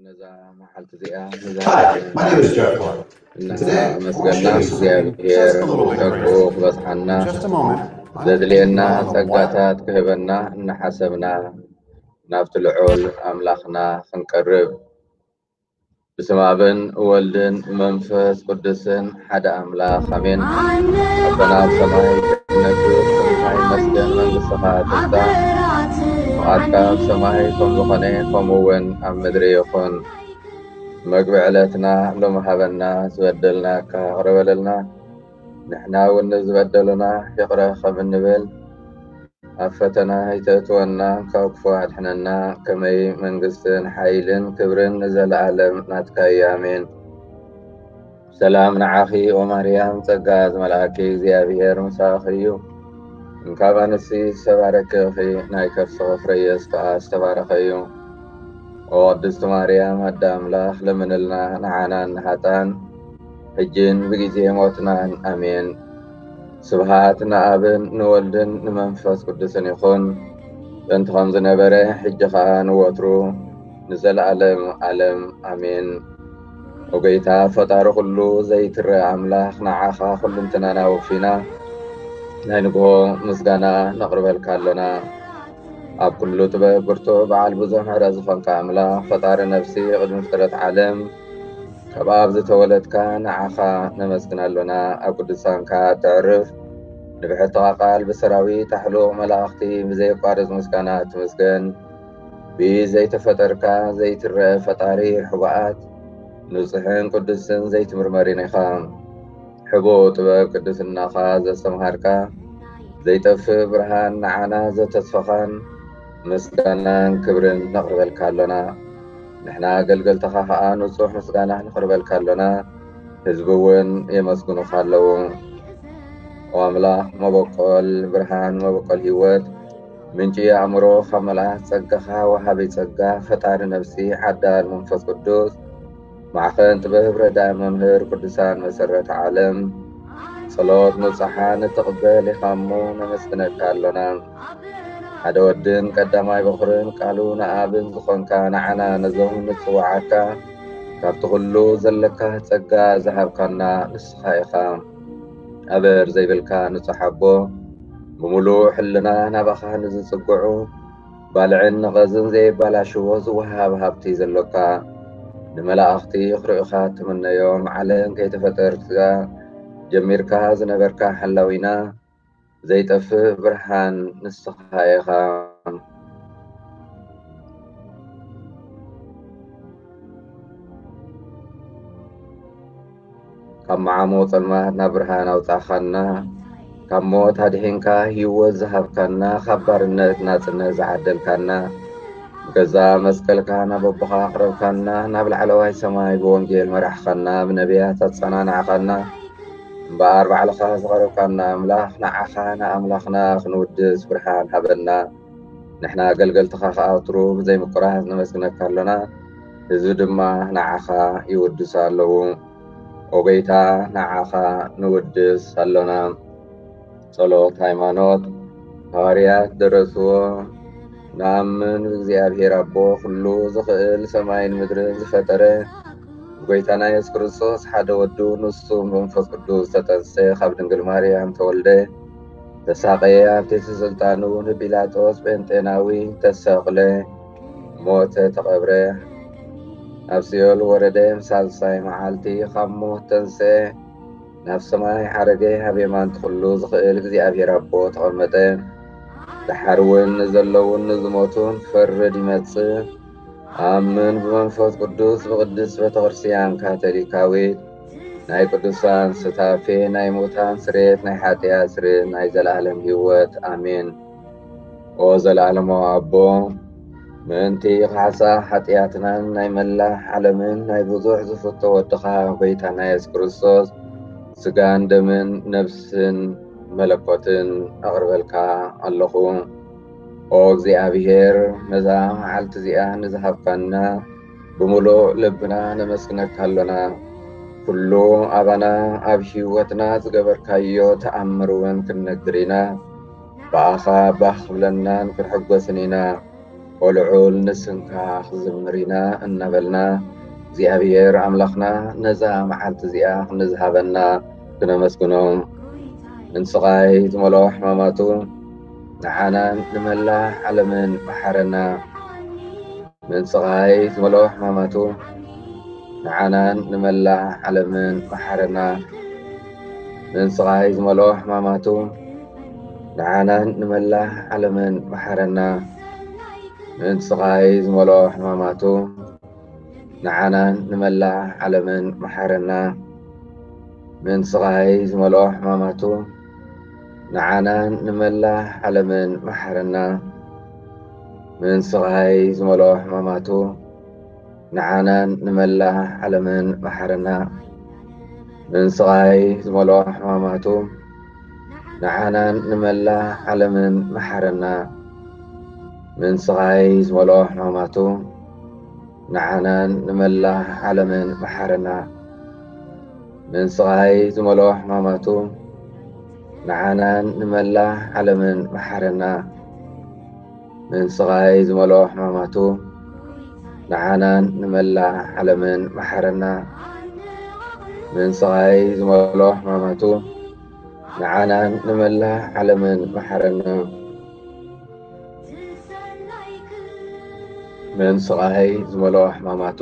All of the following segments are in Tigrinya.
ነዛ መዓልቲ እዚኣ ነዛ Hi, my name is Jeff Clark. እናመስገና እግዚኣብሔር ጸግኡ ክበጽሓና ዘድልየና ጸጋታት ክህበና እናሓሰብና ናብቲ ልዑል ኣምላኽና ክንቀርብ ብስም ኣብን ወልድን መንፈስ ቅዱስን ሓደ ኣምላኽ ኣሜን። ኣቦና ኣብ ሰማይ ክትነግስ ስምካ ይመስገን፣ መንግስትኻ ትምጻእ፣ ፍቓድካ ኣብ ሰማይ ከም ዝኾነ ከምኡ እውን ኣብ ምድሪ ይኹን። መግቢ ዕለትና ሎሚ ሃበና፣ ዝበደልናካ ይቕረ በለልና፣ ንሕና እውን ንዝበደሉና ይቕረ ከም እንብል፣ ኣብ ፈተና ኣይተእትወና፣ ካብ ክፉእ ኣድሕነና፣ ከመይ መንግስትን ሓይልን ክብርን ንዘለኣለም ናትካ እዩ፣ ኣሜን። ሰላም ንዓኺ ኦ ማርያም፣ ጸጋ ዝመልኣኪ እግዚኣብሔር ምሳኺ እዩ። እንካብ ኣንስቲ ዝተባረኪ ኢኺ፣ ናይ ከርስኺ ፍረ ኢየሱስ ከኣ ዝተባረኸ እዩ። ኦ ቅድስቲ ማርያም ኣደ ኣምላኽ፣ ለምንልና ንዓና ንሃጣን፣ ሕጅን ብግዜ ሞትናን፣ ኣሜን። ስብሃት ንኣብን ንወልድን ንመንፈስ ቅዱስን ይኹን፣ ጥንቲ ከም ዝነበረ፣ ሕጂ ኸኣ ንወትሩ ንዘለኣለም ኣለም፣ ኣሜን። ኦ ጎይታ ፈጣሪ ኩሉ ዘይትረአ ኣምላኽ፣ ንዓኻ ኩልንትናና ወፊና ናይ ንግሆ ምስጋና ነቕርበልካ ኣሎና። ኣብ ኩሉ ጥበብ ብርቱዕ በዓል ብዙሕ ምሕረት ዝኾንካ ኣምላኽ፣ ፈጣሪ ነፍሲ ቅድሚ ፍጥረት ዓለም ካብ ኣብ ዝተወለድካ ንዓኻ ነመስግን ኣሎና። ኣብ ቅዱሳንካ እተዕርፍ ንብሕትኻ ቃል ብሰራዊት ኣሕሉቕ መላእኽቲ ብዘየቋርጽ ምስጋና ትመስገን። ብኢድ ዘይተፈጠርካ ዘይትረአ ፈጣሪ ሕቡኣት ንጹሕን ቅዱስን ዘይትምርመርን ኢኻ። ሕቡእ ጥበብ ቅድስናኻ ዘስተምሃርካ ዘይጠፍእ ብርሃን ንዓና ዘተስፈኻን ምስጋናን ክብርን ነቕርበልካ ኣሎና። ንሕና ኣገልገልትኻ ኸኣ ንጹሕ ምስጋና ነቕርበልካ ኣሎና። ህዝቢ እውን የመስግኑኻ ኣለዉ። ኦ ኣምላኽ መበቆል ብርሃን መበቆል ህይወት ምንጪ ኣእምሮ ካብ መልኣኽ ጸጋኻ ወሃቢ ጸጋ ፈጣሪ ነፍሲ ዓዳል መንፈስ ቅዱስ ማዕኸን ጥበብ ረዳኢ መምህር ቅዱሳን መሰረት ዓለም ጸሎት ምብጻሓ ንትቕበል ኢኻ እሞ ነመስግነካ ኣሎና። ሓደ ወድን ቀዳማይ በኹርን ቃሉ ንኣብን ዝኾንካ ንዓና ነዞም ንጽውዓካ ካብቲ ኩሉ ዘለካ ጸጋ ዝሃብካና ንስኻ ኢኻ። ኣበር ዘይብልካ ንጹሕ ኣቦ ብምሉእ ሕልና ናባኻ ንዝጽግዑ ባልዕን ነቐዝን ዘየባላሽዎ ዝወሃብ ሃብቲ ዘሎካ ንመላእኽቲ ክርእዩኻ ትምነዮም ዓለም ከይተፈጠርካ ጀሚርካ ዝነበርካ ሓላዊና ዘይጠፍእ ብርሃን ንስኻ ኢኻ። ካብ መዓሞ ጸልማት ናብ ብርሃን ኣውጻእኻና፣ ካብ ሞት ኣድሒንካ ህይወት ዝሃብካና፣ ካብ ባርነት ናጽነት ዝዓደልካና፣ ብገዛ መስቀልካ ናብ ኣቦኻ ኣቕረብካና፣ ናብ ላዕለዋይ ሰማይ ብወንጌል መራሕኻና፣ ብነቢያት ኣጸናናዕኻና፣ እምበኣር ባዕልኻ ዝቐረብካና ኣምላኽ፣ ንዓኻ ንኣምላኽና ክንውድስ ብርሃን ሃበና። ንሕና ኣገልገልትኻ ከኣ ወትሩ ብዘይ ምቁራጽ ነመስግነካ ኣሎና። ህዝቢ ድማ ንዓኻ ይውድሱ ኣለዉ። ኦ ጎይታ፣ ንዓኻ ንውድስ ኣሎና። ጸሎት ሃይማኖት። ሃዋርያት ደረስዎ፣ ንኣምን ብእግዚኣብሔር ኣቦ ኩሉ ዝኽእል ሰማይን ምድርን ዝፈጠረ፣ ብጎይታና የሱስ ክርስቶስ ሓደ ወዱ፣ ንሱ ብመንፈስ ቅዱስ ተጠንሰ፣ ካብ ድንግል ማርያም ተወልደ፣ ተሳቐየ፣ ኣብ ትሕቲ ስልጣኑ ንጲላጦስ ጴንጤናዊ ተሰቕለ፣ ሞተ፣ ተቐብረ፣ ኣብ ሲኦል ወረደ፣ ሳልሳይ መዓልቲ ካብ ሞት ተንስአ፣ ናብ ሰማይ ዓረገ፣ ኣብ የማን ኩሉ ዝኽእል እግዚኣብሔር ኣቦ ተቐመጠ። ደሓር እውን ንዘለዉን ንዝሞቱን ክፈርድ ይመጽእ። ኣምን ብመንፈስ ቅዱስ ብቅድስት ቤተ ክርስቲያን ካቶሊካዊት፣ ናይ ቅዱሳን ስታፌ፣ ናይ ሙታን ስሬት፣ ናይ ሓጢኣት ስሬት፣ ናይ ዘለኣለም ህይወት። ኣሜን። ኦ ዘለኣለማዊ ኣቦ፣ ምእንቲ ካሕሳ ሓጢኣትናን ናይ መላእ ዓለምን ናይ ብዙሕ ዝፍቶ ወድኻ ጎይታና የሱስ ክርስቶስ ስጋን ደምን ነፍስን መለኮትን ኣቕርበልካ ኣለኹ። ኦ እግዚኣብሔር፣ ነዛ መዓልቲ እዚኣ ንዝሃብካና ብምሉእ ልብና ነመስግነካ ኣሎና። ኩሉ ኣባና ኣብ ህይወትና ዝገበርካዮ ተኣምር እውን ክንነግር ኢና። ብኣኻ ባህ ክብለናን ክንሕጎስን ኢና። ኦ ልዑል ንስምካ ክዝምር ኢና እናበልና እግዚኣብሔር ኣምላኽና ነዛ መዓልቲ እዚኣ ንዝሃበና ክነመስግኖ። ምን ስቓይ ዝመልኦ ሕማማቱ ንዓናን ንመላእ ዓለምን መሓረና። ምን ስቓይ ዝመልኦ ሕማማቱ ንዓናን ንመላእ ዓለምን መሓረና። ምን ስቓይ ዝመልኦ ሕማማቱ ንዓናን ንመላእ ዓለምን መሓረና። ምን ስቓይ ዝመልኦ ሕማማቱ ንዓናን ንመላእ ዓለምን መሓረና። ምን ስቓይ ዝመልኦ ሕማማቱ ንዓናን ንመላእ ዓለምን መሓረና። ምን ስቓይ ዝመልኦ ሕማማቱ ንዓናን ንመላእ ዓለምን መሓረና። ምን ስቓይ ዝመልኦ ሕማማቱ ንዓናን ንመላእ ዓለምን መሓረና። ምን ስቓይ ዝመልኦ ሕማማቱ ንዓናን ንመላእ ዓለምን መሓረና። ምን ስቓይ ዝመልኦ ሕማማቱ ንዓናን ንመላእ ዓለምን መሓረና። ምን ስቓይ ዝመልኦ ሕማማቱ ንዓናን ንመላእ ዓለምን መሓረና። ምን ስቓይ ዝመልኦ ሕማማቱ ንዓናን ንመላእ ዓለምን መሓረና። ምን ስቓይ ዝመልኦ ሕማማቱ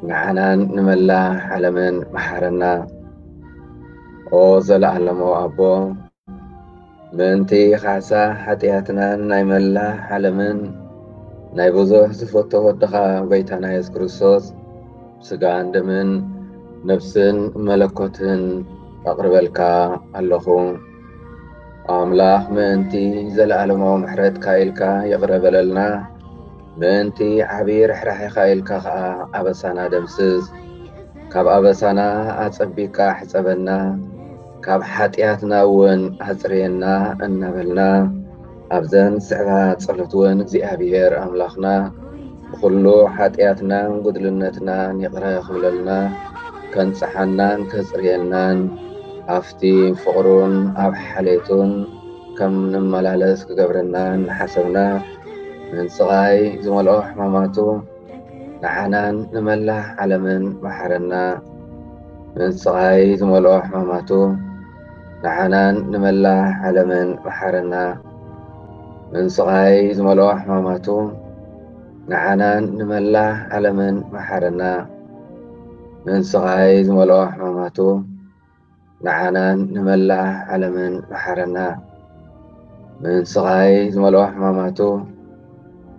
ንዓናን ንመላእ ዓለምን መሓረና። ኦ ዘለኣለማዊ ኣቦ፣ ምእንቲ ካሕሳ ሓጢኣትናን ናይ መላእ ዓለምን ናይ ብዙሕ ዝፈቶ ወድኻ ጎይታና የሱስ ክርስቶስ ስጋን ደምን ነፍስን መለኮትን ኣቕርበልካ ኣለኹ። ኣምላኽ ምእንቲ ዘለኣለማዊ ምሕረትካ ኢልካ ይቕረ በለልና። ምእንቲ ዓቢ ርሕራሕኻ ኢልካ ኸኣ ኣበሳና ደምስስ። ካብ ኣበሳና ኣጸቢቕካ ሕጸበና። ካብ ሓጢኣትና እውን ኣጽርየና እናበልና ኣብዘን ዝስዕባ ጸሎት እውን እግዚኣብሔር ኣምላኽና ብኹሉ ሓጢኣትናን ጉድልነትናን ይቕረ ክብለልና፣ ከንጽሓናን ከጽርየናን፣ ኣብቲ ፍቕሩን ኣብ ሓሌቱን ከም ንመላለስ ክገብረና እናሓሰብና፣ ምን ስቓይ ዝመልኦ ሕማማቱ ንዓናን ንመላእ ዓለምን መሓረና። ምን ስቓይ ዝመልኦ ሕማማቱ ንዓናን ንመላእ ዓለምን መሓረና። ምን ስቓይ ዝመልኦ ሕማማቱ ንዓናን ንመላእ ዓለምን መሓረና። ምን ስቓይ ዝመልኦ ሕማማቱ ንዓናን ንመላእ ዓለምን መሓረና። ምን ስቓይ ዝመልኦ ሕማማቱ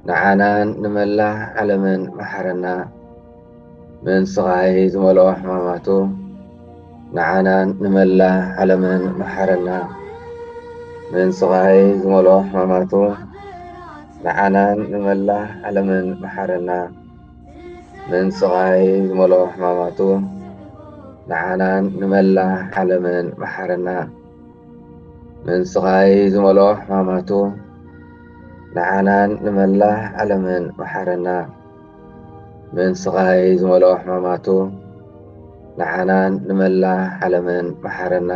ንዓናን ንመላእ ዓለምን መሓረና። ምን ስቓይ ዝመልኦ ሕማማቱ ንዓናን ንመላእ ዓለምን መሓረና። ምን ስቓይ ዝመልኦ ሕማማቱ፣ ንዓናን ንመላእ ዓለምን መሓረና። ምን ስቓይ ዝመልኦ ሕማማቱ፣ ንዓናን ንመላእ ዓለምን መሓረና። ምን ስቓይ ዝመልኦ ሕማማቱ፣ ንዓናን ንመላእ ዓለምን መሓረና። ምን ስቓይ ዝመልኦ ሕማማቱ፣ ንዓናን ንመላእ ዓለምን መሓረና።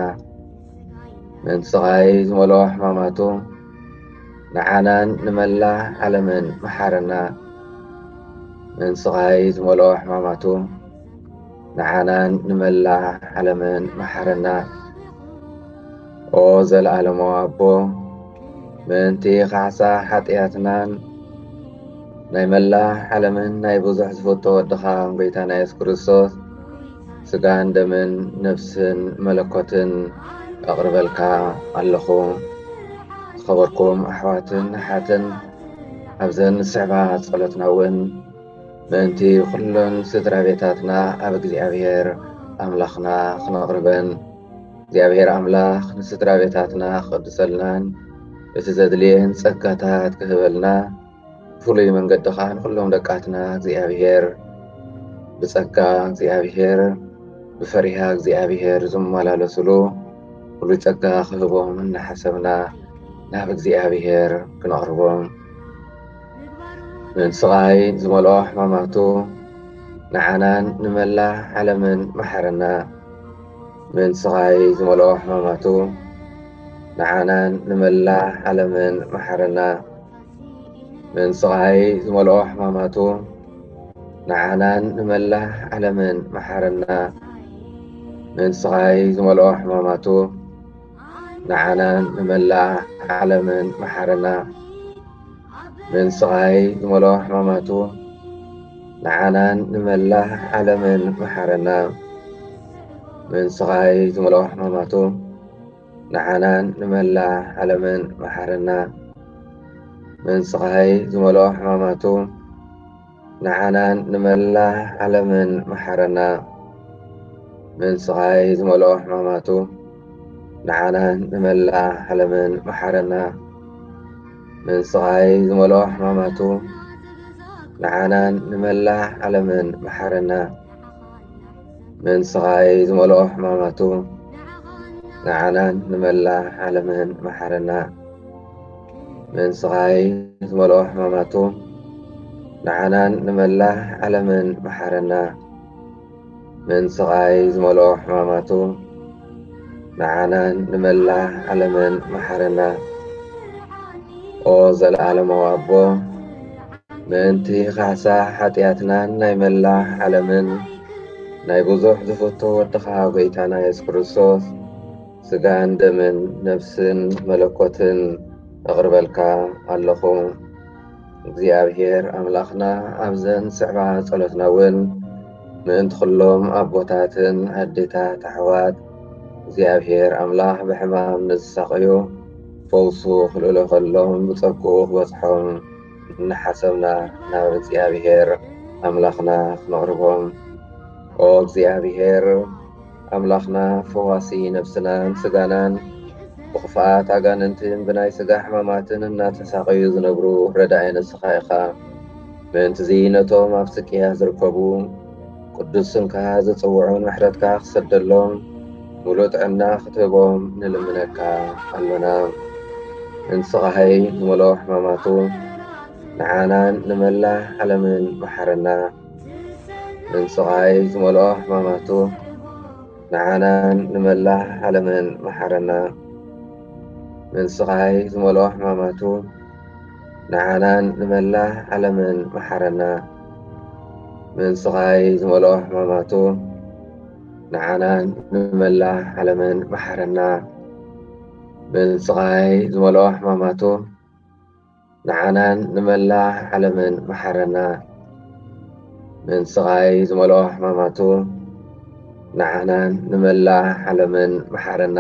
ምን ስቓይ ዝመልኦ ሕማማቱ፣ ንዓናን ንመላእ ዓለምን መሓረና። ምን ስቓይ ዝመልኦ ሕማማቱ፣ ንዓናን ንመላእ ዓለምን መሓረና። ኦ ዘለኣለማዊ ኣቦ፣ ምእንቲ ካሕሳ ሓጢኣትናን ናይ መላእ ዓለምን ናይ ብዙሕ ዝፈቶ ወድኻ ጎይታና የሱስ ክርስቶስ ስጋን ደምን ነፍስን መለኮትን ኣቕርበልካ ኣለኹ። ዝኸበርኩም ኣሕዋትን ኣሓትን፣ ኣብዘን ዝስዕባ ጸሎትና እውን ምእንቲ ኩለን ስድራ ቤታትና ኣብ እግዚኣብሔር ኣምላኽና ክነቕርበን፣ እግዚኣብሔር ኣምላኽ ንስድራ ቤታትና ክቕድሰልናን እቲ ዘድልየን ጸጋታት ክህበልና ብፍሉይ መንገዲ ኸዓ ንኹሎም ደቃትና እግዚኣብሔር ብጸጋ እግዚኣብሔር ብፈሪሃ እግዚኣብሔር ዝመላለሱሉ ፍሉይ ጸጋ ክህቦም እናሓሰብና ናብ እግዚኣብሔር ክነቕርቦም። ምን ስቓይ ዝመልኦ ሕማማቱ፣ ንዓናን ንመላእ ዓለምን መሓረና። ምን ስቓይ ዝመልኦ ሕማማቱ፣ ንዓናን ንመላእ ዓለምን መሓረና። ምን ስቓይ ዝመልኦ ሕማማቱ፣ ንዓናን ንመላእ ዓለምን መሓረና። ምን ስቓይ ዝመልኦ ሕማማቱ፣ ንዓናን ንመላእ ዓለምን መሓረና። ምን ስቓይ ዝመልኦ ሕማማቱ፣ ንዓናን ንመላእ ዓለምን መሓረና። ምን ስቓይ ዝመልኦ ሕማማቱ፣ ንዓናን ንመላእ ዓለምን መሓረና። ምን ስቓይ ዝመልኦ ሕማማቱ፣ ንዓናን ንመላእ ዓለምን መሓረና። ምን ስቓይ ዝመልኦ ሕማማቱ፣ ንዓናን ንመላእ ዓለምን መሓረና። ምን ስቓይ ዝመልኦ ሕማማቱ፣ ንዓናን ንመላእ ዓለምን መሓረና። ምን ስቓይ ዝመልኦ ሕማማቱ፣ ንዓናን ንመላእ ዓለምን መሓረና። ምን ስቓይ ዝመልኦ ሕማማቱ፣ ንዓናን ንመላእ ዓለምን መሓረና። ምን ስቓይ ዝመልኦ ሕማማቱ፣ ንዓናን ንመላእ ዓለምን መሓረና። ኦ ዘለኣለማዊ ኣቦ፣ ምእንቲ ካሕሳ ሓጢኣትናን ናይ መላእ ዓለምን ናይ ብዙሕ ዝፍቶ ወድኻ ጎይታና የሱስ ክርስቶስ ስጋን ደምን ነፍስን መለኮትን እቕርበልካ ኣለኹ። እግዚኣብሔር ኣምላኽና ኣብዘን ስዕባ ጸሎትና እውን ምእንቲ ኩሎም ኣቦታትን ኣዴታት ኣሕዋት እግዚኣብሔር ኣምላኽ ብሕማም ንዝሳቐዩ ፈውሱ ክልእሎ ከሎም ብጸግኡ ክበጽሖም እናሓሰብና ናብ እግዚኣብሔር ኣምላኽና ክነቕርቦም። ኦ እግዚኣብሔር ኣምላኽና ፈዋሲ ነፍስናን ስጋናን ብኽፍኣት ኣጋንንትን ብናይ ስጋ ሕማማትን እናተሳቐዩ ዝነብሩ ረዳኢ ንስኻ ኢኻ። ምእንትዚ ነቶም ኣብ ስቅያ ዝርከቡ ቅዱስ ስምካ ዝጽውዑን ምሕረትካ ክሰደሎም ምሉእ ጥዕና ክትህቦም ንልምነካ ኣሎና። እንስኻይ ዝመልኦ ሕማማቱ ንዓናን ንመላ ዓለምን መሓረና። እንስኻይ ዝመልኦ ሕማማቱ ንዓናን ንመላ ዓለምን መሓረና። ምን ስቓይ ዝመልኦ ሕማማቱ ንዓናን ንመላ ዓለምን መሓረና። ምን ስቓይ ዝመልኦ ሕማማቱ ንዓናን ንመላ ዓለምን መሓረና። ምን ስቓይ ዝመልኦ ሕማማቱ ንዓናን ንመላ ዓለምን መሓረና። ምን ስቓይ ዝመልኦ ሕማማቱ ንዓናን ንመላ ዓለምን መሓረና።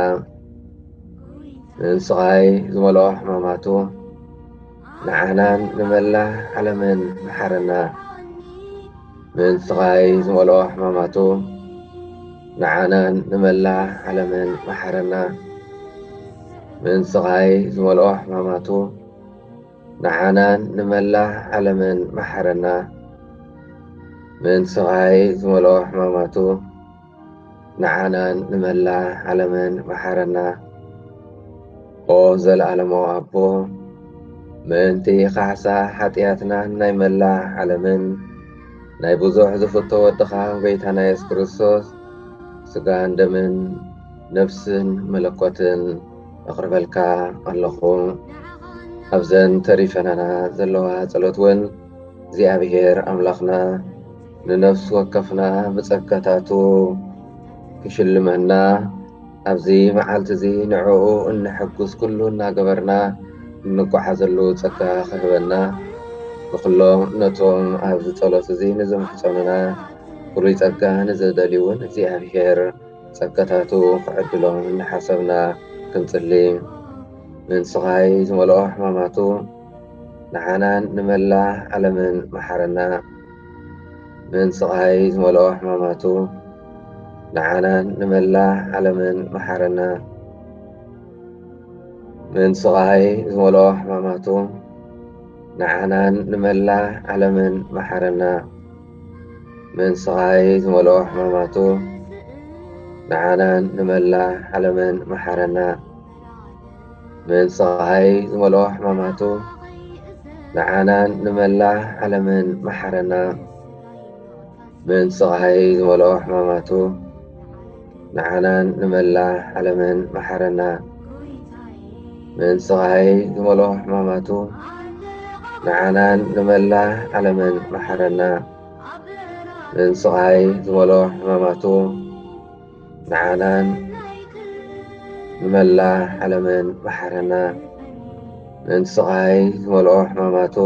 ምን ስቓይ ዝመልኦ ሕማማቱ ንዓናን ንመላ ዓለምን መሓረና። ምን ስቓይ ዝመልኦ ሕማማቱ ንዓናን ንመላእ ዓለምን መሓረና። ምእንቲ ስቓይ ዝመልኦ ሕማማቱ፣ ንዓናን ንመላእ ዓለምን መሓረና። ምእንቲ ስቓይ ዝመልኦ ሕማማቱ፣ ንዓናን ንመላእ ዓለምን መሓረና። ኦ ዘለኣለማዊ ኣቦ፣ ምእንቲ ካሕሳ ሓጢኣትናን ናይ መላእ ዓለምን፣ ናይ ብዙሕ ዝፍቶ ወድኻ ጎይታና የሱስ ክርስቶስ፣ ስጋን ደምን ነፍስን መለኮትን ኣቕርበልካ ኣለኹ። ኣብዘን ተሪፈናና ዘለዋ ጸሎት እውን እግዚኣብሔር ኣምላኽና ንነፍሲ ወከፍና ብጸጋታቱ ክሽልመና፣ ኣብዚ መዓልቲ እዚ ንዕኡ እንሕጉስ ኩሉ እናገበርና እንጓዓዘሉ ጸጋ ክህበና፣ ንኹሎም ነቶም ኣብዚ ጸሎት እዚ ንዝምሕጸኑና ፍሉይ ጸጋ ንዝደልዩ እውን እግዚኣብሔር ጸጋታቱ ክዕድሎም እናሓሰብና ክንጽሊ። ምእንቲ ስቓይ ዝመልኦ ሕማማቱ፣ ንዓናን ንመላእ ዓለምን መሓረና። ምእንቲ ስቓይ ዝመልኦ ሕማማቱ፣ ንዓናን ንመላእ ዓለምን መሓረና። ምእንቲ ስቓይ ዝመልኦ ሕማማቱ፣ ንዓናን ንመላእ ዓለምን መሓረና። ምእንቲ ስቓይ ዝመልኦ ሕማማቱ፣ ንዓናን ንመላእ ዓለምን መሓረና። ምእንቲ ስቓይ ዝመልኦ ሕማማቱ፣ ንዓናን ንመላእ ዓለምን መሓረና። ምእንቲ ስቓይ ዝመልኦ ሕማማቱ፣ ንዓናን ንመላእ ዓለምን መሓረና። ምእንቲ ስቓይ ዝመልኦ ሕማማቱ፣ ንዓናን ንመላእ ዓለምን መሓረና። ምእንቲ ስቓይ ዝመልኦ ሕማማቱ፣ ንዓናን ንመላእ ዓለምን መሓረና። ምእንቲ ስቓይ ዝመልኦ ሕማማቱ፣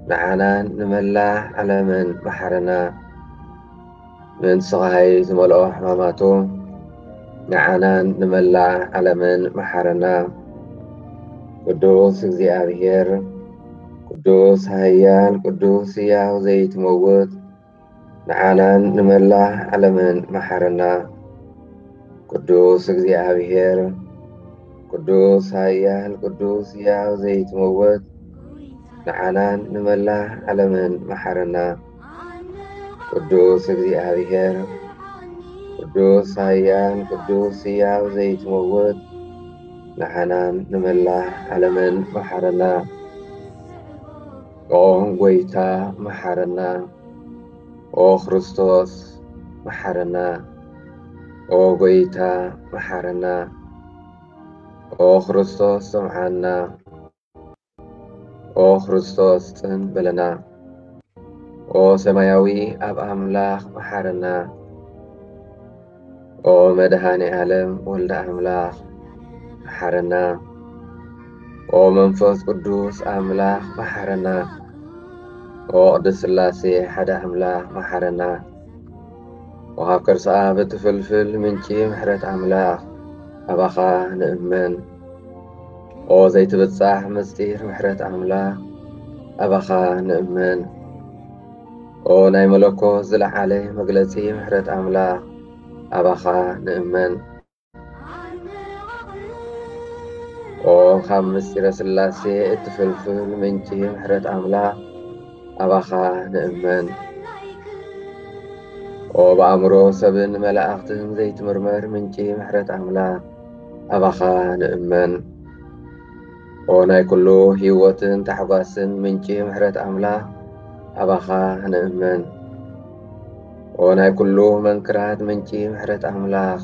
ንዓናን ንመላእ ዓለምን መሓረና። ምእንቲ ስቓይ ዝመልኦ ሕማማቱ፣ ንዓናን ንመላእ ዓለምን መሓረና። ቅዱስ እግዚኣብሔር፣ ቅዱስ ኃያል፣ ቅዱስ ሕያው ዘይትመውት፣ ንዓናን ንመላእ ዓለምን መሓረና። ቅዱስ እግዚኣብሔር፣ ቅዱስ ኃያል፣ ቅዱስ ሕያው ዘይትመውት፣ ንዓናን ንመላእ ዓለምን መሓረና። ቅዱስ እግዚኣብሔር፣ ቅዱስ ኃያል፣ ቅዱስ ሕያው ዘይትመውት፣ ንዓናን ንመላእ ዓለምን መሓረና። ኦ ጎይታ መሓረና። ኦ ክርስቶስ መሓረና። ኦ ጎይታ መሓረና። ኦ ክርስቶስ ስምዓና። ኦ ክርስቶስ ጽን በለና። ኦ ሰማያዊ ኣብ ኣምላኽ መሓረና። ኦ መድኃኔ ዓለም ወልደ ኣምላኽ መሓረና። ኦ መንፈስ ቅዱስ ኣምላኽ መሓረና። ኦ ቅድስት ሥላሴ ሓደ ኣምላኽ መሓረና። ኦ ካብ ከርሰ ኣብ እትፍልፍል ምንጪ ምሕረት ኣምላኽ ኣባኻ ንእመን። ኦ ዘይትብጻሕ ምስጢር ምሕረት ኣምላኽ ኣባኻ ንእመን። ኦ ናይ መለኮት ዝለዓለ መግለጺ ምሕረት ኣምላኽ ኣባኻ ንእመን። ኦ ካብ ምስጢረ ሥላሴ እትፍልፍል ምንጪ ምሕረት ኣምላኽ ኣባኻ ንእመን። ኦ ብኣእምሮ ሰብን መላእኽትን ዘይትምርመር ምንጪ ምሕረት ኣምላኽ ኣባኻ ንእመን። ኦ ናይ ኩሉ ህይወትን ታሕጓስን ምንጪ ምሕረት ኣምላኽ ኣባኻ ንእመን። ኦ ናይ ኩሉ መንክራት ምንጪ ምሕረት ኣምላኽ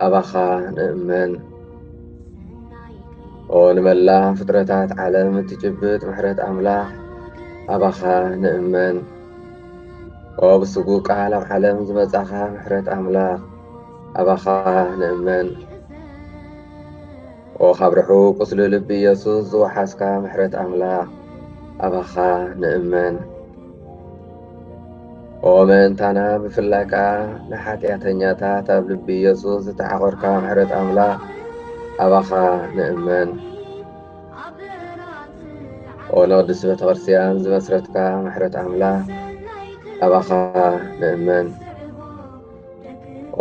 ኣባኻ ንእመን። ኦ ንመላ ፍጥረታት ዓለም እትጭብጥ ምሕረት ኣምላኽ ኣባኻ ንእመን። ኦ ብስጉ ቃል ኣብ ዓለም ዝመጻኻ ምሕረት ኣምላኽ ኣባኻ ንእመን። ኦ ካብ ርሑቕ ቁስሊ ልቢ ኢየሱስ ዝወሓስካ ምሕረት ኣምላኽ ኣባኻ ንእመን። ኦ ምእንታና ብፍላይ ከኣ ንሓጢኣተኛታት ኣብ ልቢ ኢየሱስ ዝተዓቖርካ ምሕረት ኣምላኽ ኣባኻ ንእመን። ኦ ንቅድስቲ ቤተ ክርስቲያን ዝመስረትካ ምሕረት ኣምላኽ ኣባኻ ንእመን።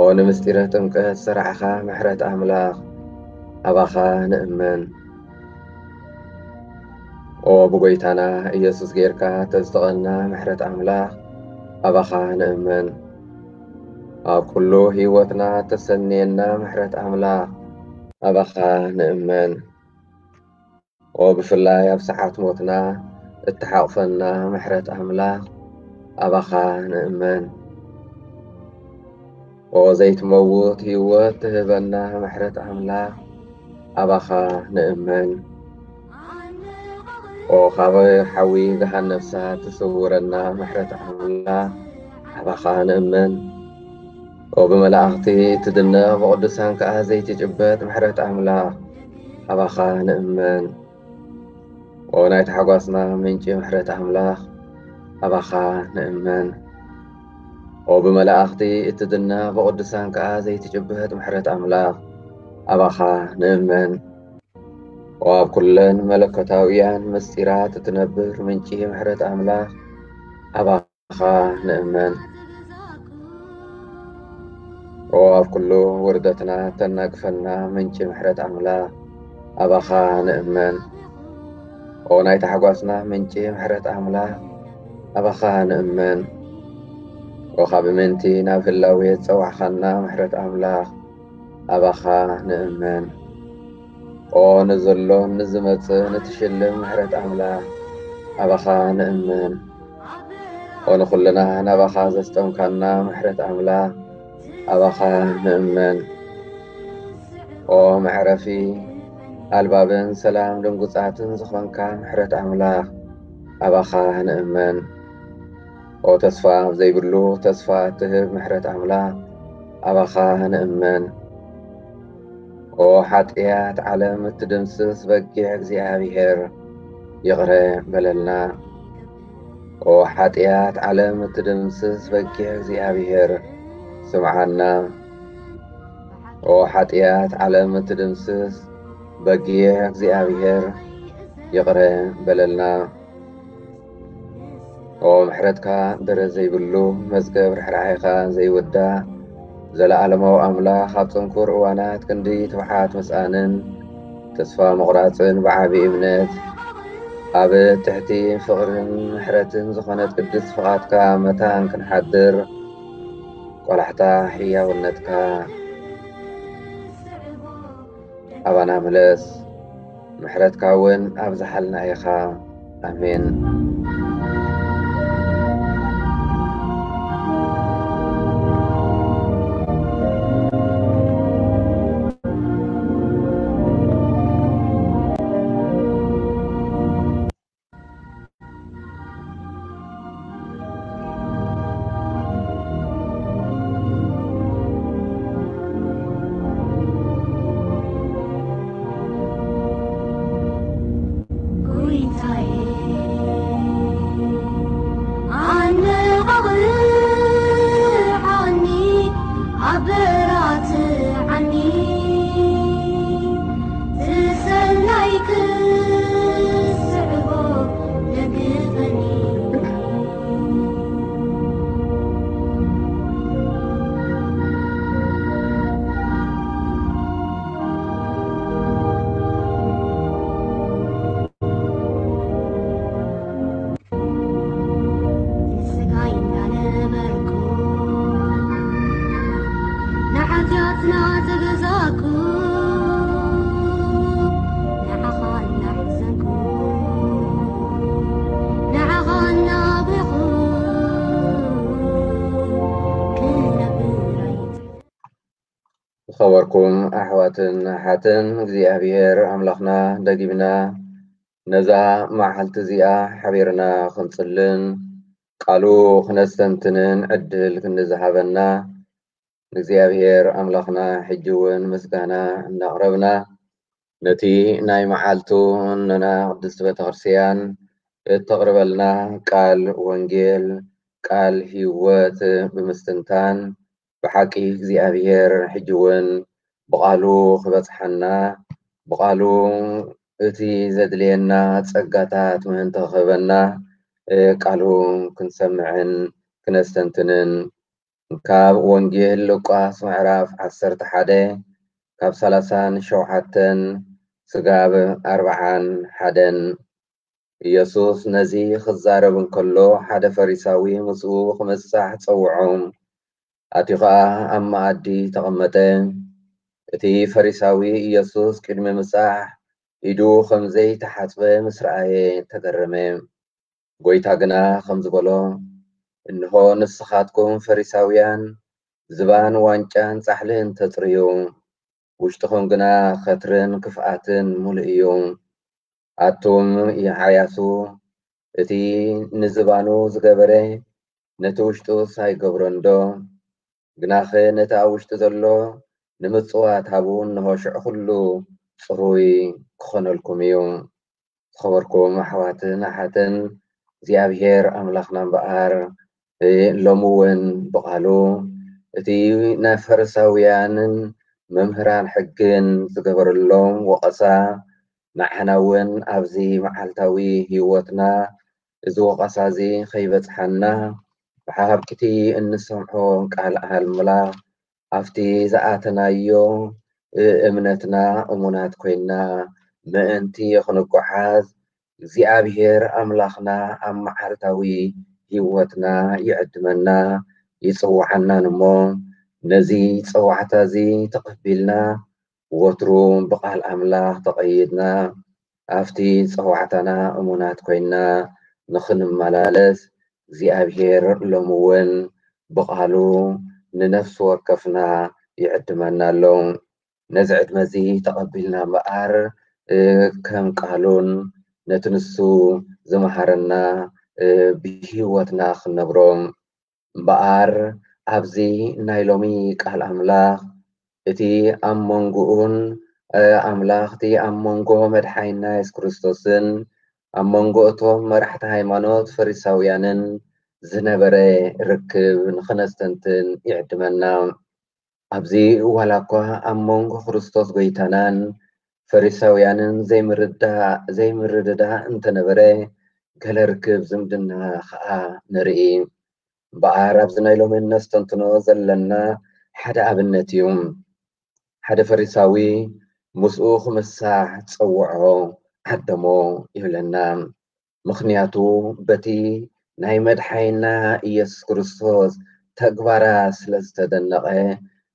ኦ ንምስጢረ ጥምቀት ዝሰራዕኻ ምሕረት ኣምላኽ ኣባኻ ንእመን። ኦ ብጎይታና ኢየሱስ ጌርካ ተዝተቐና ምሕረት ኣምላኽ ኣባኻ ንእመን። ኣብ ኩሉ ህይወትና ተሰንየና ምሕረት ኣምላኽ ኣባኻ ንእመን። ኦ ብፍላይ ኣብ ሰዓት ሞትና እትሓቕፈና ምሕረት ኣምላኽ ኣባኻ ንእመን። ኦ ዘይትመውት ህይወት ትህበና ምሕረት ኣምላኽ ኣባኻ ንእመን። ኦ ካብ ሓዊ ገሃነም እሳት ትስውረና ምሕረት ኣምላኽ ኣባኻ ንእመን። ኦ ብመላእኽቲ ትድነቕ ብቕዱሳን ከኣ ዘይትጭበጥ ምሕረት ኣምላኽ ኣባኻ ንእመን። ኦ ናይ ታሕጓስና ምንጪ ምሕረት ኣምላኽ ኣባኻ ንእመን። ኦ ብመላእኽቲ እትድነቕ ብቕዱሳን ከኣ ዘይትጭበጥ ምሕረት ኣምላኽ ኣባኻ ንእመን። ኦ ኣብ ኩለን መለኮታውያን ምስጢራት እትነብር ምንጪ ምሕረት ኣምላኽ ኣባኻ ንእመን። ኦ ኣብ ኩሉ ውርደትና ተናግፈና ምንጪ ምሕረት ኣምላኽ ኣባኻ ንእመን። ኦ ናይ ታሕጓስና ምንጪ ምሕረት ኣምላኽ ኣባኻ ንእመን። ኦ ካብ ምንቲ ናብ ህላዌ ዝጸዋዕኻና ምሕረት ኣምላኽ ኣባኻ ንእመን። ኦ ንዘሎን ንዝመጽእን እትሽልም ምሕረት ኣምላኽ ኣባኻ ንእመን። ኦ ንኹልና ናባኻ ዘስጠምካና ምሕረት ኣምላኽ ኣባኻ ንእመን። ኦ መዕረፊ ኣልባብን ሰላም ድንጉጻትን ዝኾንካ ምሕረት ኣምላኽ ኣባኻ ንእመን። ኦ ተስፋ ዘይብሉ ተስፋ እትህብ ምሕረት ኣምላኽ ኣባኻ ንእመን። ኦ ሓጢኣት ዓለም እትድምስስ በጊዕ እግዚኣብሔር ይቕረ በለልና። ኦ ሓጢኣት ዓለም እትድምስስ በጊዕ እግዚኣብሔር ስምዓና። ኦ ሓጢኣት ዓለም እትድምስስ በጊዕ እግዚኣብሔር ይቕረ በለልና። ኦ ምሕረትካ ደረት ዘይብሉ መዝገብ ርሕራሕኻ ዘይወዳእ ዘለኣለማዊ ኣምላኽ ኣብ ጽንኩር እዋናት ክንዲ ትብዓት ምስኣንን ተስፋ ምቑራጽን ብዓቢ እምነት ኣብ ትሕቲ ፍቕርን ምሕረትን ዝኾነት ቅድስት ፍቓድካ መታን ክንሓድር ቆላሕታ ሕያውነትካ ኣባና ምለስ፣ ምሕረትካ እውን ኣብዝሓልና ኢኻ። ኣሜን። ዝኸበርኩም ኣሕዋትን ኣሓትን እግዚኣብሔር ኣምላኽና ደጊምና ነዛ መዓልቲ እዚኣ ሓቢርና ክንጽልን ቃሉ ክነስተንትንን ዕድል ክንዝሃበና ንእግዚኣብሔር ኣምላኽና ሕጂ እውን ምስጋና እናቕረብና ነቲ ናይ መዓልቱ ንና ቅድስቲ ቤተክርስትያን እተቕርበልና ቃል ወንጌል ቃል ህይወት ብምስትንታን ብሓቂ እግዚኣብሔር ሕጂ እውን ብቓሉ ክበጽሓና ብቓሉ እቲ ዘድልየና ጸጋታት ምእንቲ ክህበና ቃሉ ክንሰምዕን ክነስተንትንን ካብ ወንጌል ሉቃስ ምዕራፍ ዓሰርተ ሓደ ካብ ሰላሳን ሸውዓተን ስጋብ ኣርብዓን ሓደን። ኢየሱስ ነዚ ክዛረብ እንከሎ ሓደ ፈሪሳዊ ምስኡ ክምጻሕ ጸውዖ። ኣትዩ ኸኣ ኣብ መኣዲ ተቐመጠ። እቲ ፈሪሳዊ ኢየሱስ ቅድሚ ምጻሕ ኢዱ ከም ዘይተሓጽበ ምስ ረኣየ ተገረመ። ጎይታ ግና ከምዚ በሎ፣ እንሆ ንስኻትኩም ፈሪሳውያን ዝባን ዋንጫን ጻሕልን ተጽርዩ፣ ውሽጥኹም ግና ኸትርን ክፍኣትን ምሉእ እዩ። ኣቱም ይዓያሱ፣ እቲ ንዝባኑ ዝገበረ ነቲ ውሽጡስ ኣይገብሮን ዶ? ግናኸ ነቲ ኣብ ውሽጢ ዘሎ ንምጽዋት ሃቡ፣ እንሆ ሽዑ ኩሉ ጽሩይ ክኾነልኩም እዩ። ዝኸበርኩም ኣሕዋትን ኣሓትን፣ እግዚኣብሔር ኣምላኽና እምበኣር ሎሚ እውን ብቓሉ እቲ ናይ ፈሪሳውያንን መምህራን ሕግን ዝገበረሎም ወቐሳ ንዓና እውን ኣብዚ መዓልታዊ ህይወትና እዚ ወቐሳ እዚ ከይበጽሓና ብሓብቅቲ እንሰምዖ ቃል ኣምላኽ ኣብቲ ዝኣተናዮ እምነትና እሙናት ኮይና ምእንቲ ክንጓዓዝ እግዚኣብሔር ኣምላኽና ኣብ መዓልታዊ ህይወትና ይዕድመና ይጽውዓናን እሞ ነዚ ጸዋዕታ እዚ ተቐቢልና ወትሩ ብቓል ኣምላኽ ተቐይድና ኣብቲ ጸዋዕታና እሙናት ኮይና ንኽንመላለስ እግዚኣብሔር ሎሚ እውን ብቓሉ ንነፍሲ ወከፍና ይዕድመና ኣሎ። ነዚ ዕድመ እዚ ተቐቢልና እምበኣር ከም ቃሉን ነቲ ንሱ ዝመሃረና ብህይወትና ክንነብሮ እምበኣር ኣብዚ ናይ ሎሚ ቃል ኣምላኽ እቲ ኣብ መንጎኡን ኣምላኽ እቲ ኣብ መንጎ መድሓይና የሱስ ክርስቶስን ኣብ መንጎ እቶም መራሕቲ ሃይማኖት ፈሪሳውያንን ዝነበረ ርክብ ንኽነስተንትን ይዕድመና። ኣብዚ ዋላ እኳ ኣብ መንጎ ክርስቶስ ጎይታናን ፈሪሳውያንን ዘይምርዳእ ዘይምርድዳእ እንተነበረ ገለ ርክብ ዝምድና ኸኣ ንርኢ። እምበኣር ኣብዚ ናይ ሎሚ እነስተንትኖ ዘለና ሓደ ኣብነት እዩ። ሓደ ፈሪሳዊ ምስኡ ክምሳሕ ጸውዖ ዓደሞ ይብለና። ምኽንያቱ በቲ ናይ መድሓይና ኢየሱስ ክርስቶስ ተግባራት ስለ ዝተደነቐ፣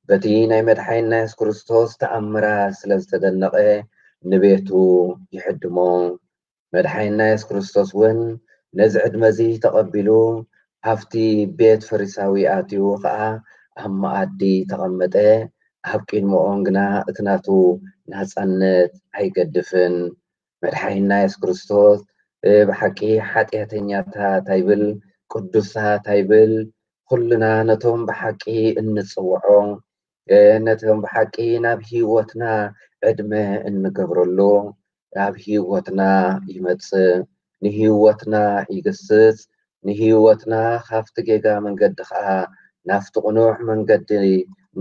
በቲ ናይ መድሓይና የሱስ ክርስቶስ ተኣምራት ስለ ዝተደነቐ ንቤቱ ይዕድሞ። መድሓይና የሱስ ክርስቶስ እውን ነዚ ዕድመ እዚ ተቐቢሉ ኣብቲ ቤት ፈሪሳዊ ኣትዩ ኸዓ ኣብ መኣዲ ተቐመጠ። ኣብ ቅድሚኦም ግና እቲ ናቱ ናጻነት ኣይገድፍን። መድሓይና የሱስ ክርስቶስ ብሓቂ ሓጢኣተኛታት ኣይብል፣ ቅዱሳት ኣይብል፣ ኩልና ነቶም ብሓቂ እንጽውዖ ነቶም ብሓቂ ናብ ህይወትና ዕድመ እንገብረሉ ኣብ ህይወትና ይመጽእ፣ ንህይወትና ይግስጽ፣ ንህይወትና ካብቲ ጌጋ መንገዲ ኸዓ ናብቲ ቅኑዕ መንገዲ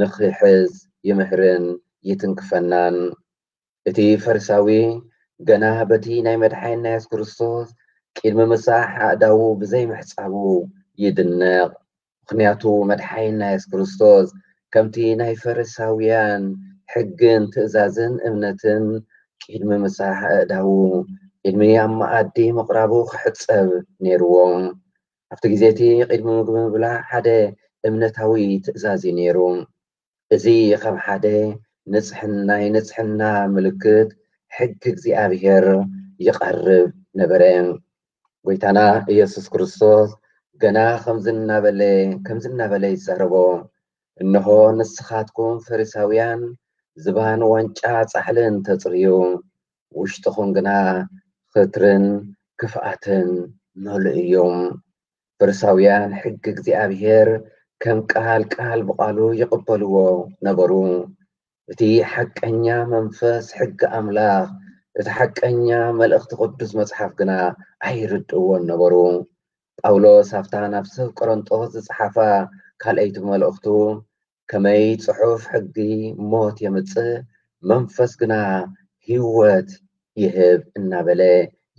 ንኽሕዝ ይምህርን ይትንክፈናን። እቲ ፈሪሳዊ ገና በቲ ናይ መድሓይና የሱስ ክርስቶስ ቅድሚ ምሳሕ ኣእዳዉ ብዘይምሕጻቡ ይድነቕ። ምኽንያቱ መድሓይና የሱስ ክርስቶስ ከምቲ ናይ ፈሪሳውያን ሕግን ትእዛዝን እምነትን ቅድሚ ምሳሕ ኣእዳዉ ቅድሚ ኣብ መኣዲ ምቕራቡ ክሕጸብ ነይርዎ። ኣብቲ ግዜ እቲ ቅድሚ ምግቢ ምብላዕ ሓደ እምነታዊ ትእዛዝ እዩ ነይሩ። እዚ ከም ሓደ ንጽሕን ናይ ንጽሕና ምልክት ሕጊ እግዚኣብሔር ይቐርብ ነበረ። ጎይታና ኢየሱስ ክርስቶስ ገና ከምዚ እናበለ ከምዚ እናበለ ይዛረቦ፣ እንሆ ንስኻትኩም ፈሪሳውያን ዝባን ዋንጫ ጻሕልን ተጽርዩ፣ ውሽጥኹም ግና ኽትርን ክፍኣትን ምሉእ እዩ። ፈሪሳውያን ሕጊ እግዚኣብሔር ከም ቃል ቃል ብቓሉ ይቕበልዎ ነበሩ። እቲ ሓቀኛ መንፈስ ሕጊ ኣምላኽ፣ እቲ ሓቀኛ መልእኽቲ ቅዱስ መጽሓፍ ግና ኣይርድእዎን ነበሩ። ጳውሎስ ኣብታ ናብ ሰብ ቆሮንጦስ ዝጸሓፋ ካልኣይቲ መልእኽቱ፣ ከመይ ጽሑፍ ሕጊ ሞት የምጽእ፣ መንፈስ ግና ህይወት ይህብ እናበለ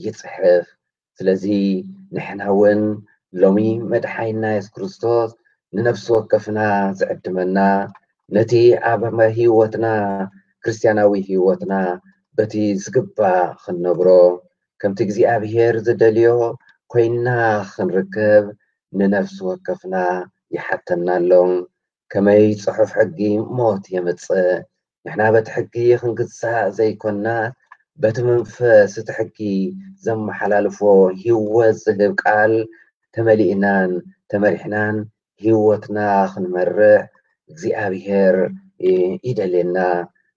ይጽሕፍ። ስለዚ ንሕና እውን ሎሚ መድሓይና የሱስ ክርስቶስ ንነፍሲ ወከፍና ዝዕድመና፣ ነቲ ኣብ ህይወትና፣ ክርስትያናዊ ህይወትና በቲ ዝግባእ ክንነብሮ፣ ከምቲ እግዚኣብሔር ዝደልዮ ኮይንና ክንርከብ ንነፍሲ ወከፍና ይሓተና ኣሎ። ከመይ ጽሑፍ ሕጊ ሞት የምጽእ? ንሕና በቲ ሕጊ ክንግዛእ ዘይኮንና፣ በቲ መንፈስ እቲ ሕጊ ዘመሓላልፎ ህይወት ዝህብ ቃል ተመሊእናን ተመሪሕናን ህይወትና ክንመርሕ እግዚኣብሔር ይደልየና።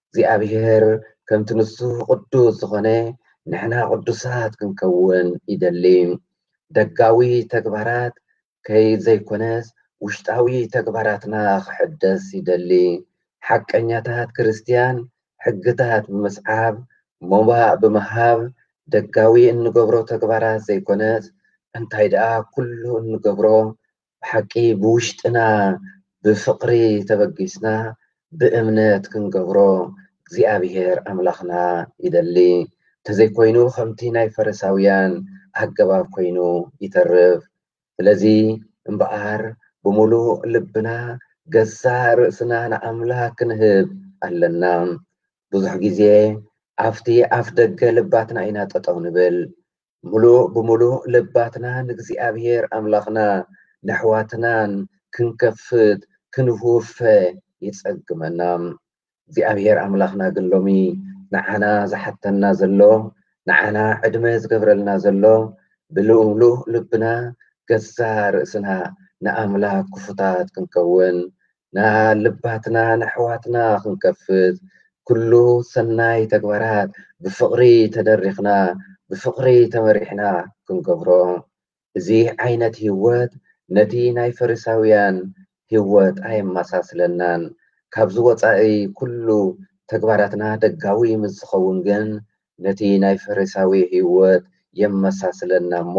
እግዚኣብሔር ከምቲ ንሱ ቅዱስ ዝኾነ ንሕና ቅዱሳት ክንከውን ይደሊ። ደጋዊ ተግባራት ከይ ዘይኮነስ ውሽጣዊ ተግባራትና ክሕደስ ይደሊ። ሓቀኛታት ክርስትያን ሕግታት ብምስዓብ፣ ሞባእ ብምሃብ፣ ደጋዊ እንገብሮ ተግባራት ዘይኮነስ እንታይ ደኣ ኩሉ እንገብሮ ብሓቂ ብውሽጥና ብፍቕሪ ተበጊስና ብእምነት ክንገብሮ እግዚኣብሔር ኣምላኽና ይደሊ። እንተዘይኮይኑ ከምቲ ናይ ፈሪሳውያን ኣገባብ ኮይኑ ይተርፍ። ስለዚ እምበኣር ብምሉእ ልብና ገዛእ ርእስና ንኣምላኽ ክንህብ ኣለና። ብዙሕ ግዜ ኣብቲ ኣፍ ደገ ልባትና ኢና ጠጠው ንብል። ምሉእ ብምሉእ ልባትና ንእግዚኣብሔር ኣምላኽና ነሕዋትናን ክንከፍት ክንውፈ ይጸግመና። እግዚኣብሔር ኣምላኽና ግን ሎሚ ንዓና ዝሓተና ዘሎ፣ ንዓና ዕድመ ዝገብረልና ዘሎ ብምሉእ ልብና ገዛ ርእስና ንኣምላኽ ክፉታት ክንከውን፣ ንልባትና ንኣሕዋትና ክንከፍት፣ ኩሉ ሰናይ ተግባራት ብፍቕሪ ተደሪኽና ብፍቕሪ ተመሪሕና ክንገብሮ። እዚ ዓይነት ህይወት ነቲ ናይ ፈሪሳውያን ህይወት ኣየመሳስለናን። ካብዚ ወጻኢ ኩሉ ተግባራትና ደጋዊ ምስ ዝኸውን ግን ነቲ ናይ ፈሪሳዊ ህይወት የመሳስለና እሞ